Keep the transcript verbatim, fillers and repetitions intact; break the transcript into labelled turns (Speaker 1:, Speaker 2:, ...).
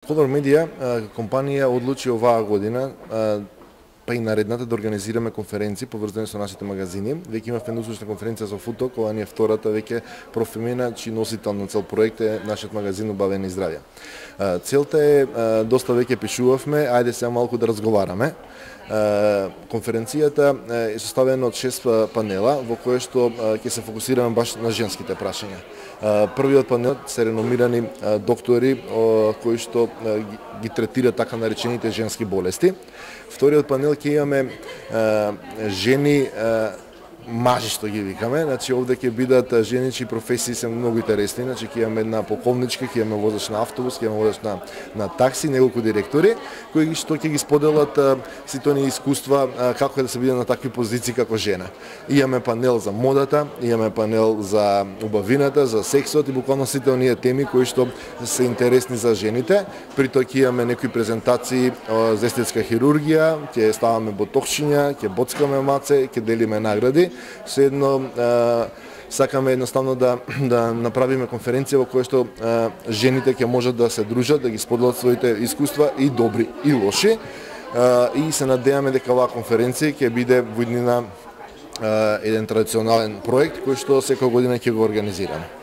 Speaker 1: Color Media компанија одлучи оваа година, па и наредната, да организираме конференции поврзани со нашите магазини. Веќе имавме научна конференција за Футок, ова ни е втората веќе профемена, чиј носител на цел проект е нашиот магазин Убавени здравје. Целта е, доста веќе пишувавме, ајде сега малку да разговараме. Конференцијата е составена од шест панела во кои што ќе се фокусираме баш на женските прашања. Првиот панел се реномирани доктори кои што ги третираат така наречените женски болести. Вториот панел ќе имаме жени мажи, што ги викаме, значи овде ќе бидат жени чии професии се многу интересни, значи ќе имаме една полковничка, ќе имаме возач на автобус, ќе имаме возач на на такси, неколку директори кои што ќе ги споделат сите оние искуства како е да се биде на такви позиции како жена. Имаме панел за модата, имаме панел за убавината, за сексот и буквално сите оние теми кои што се интересни за жените. При тоа ќе имаме некои презентации за естетска хирургија, ќе ставаме ботоксчиња, ќе боцкаме маце, ќе делиме награди. Седно сакаме едноставно да да направиме конференција во која што а, жените ќе можат да се дружат, да ги споделат своите искуства, и добри и лоши. А, и се надеваме дека оваа конференција ќе биде во иднина еден традиционален проект кој што секоја година ќе го организираме.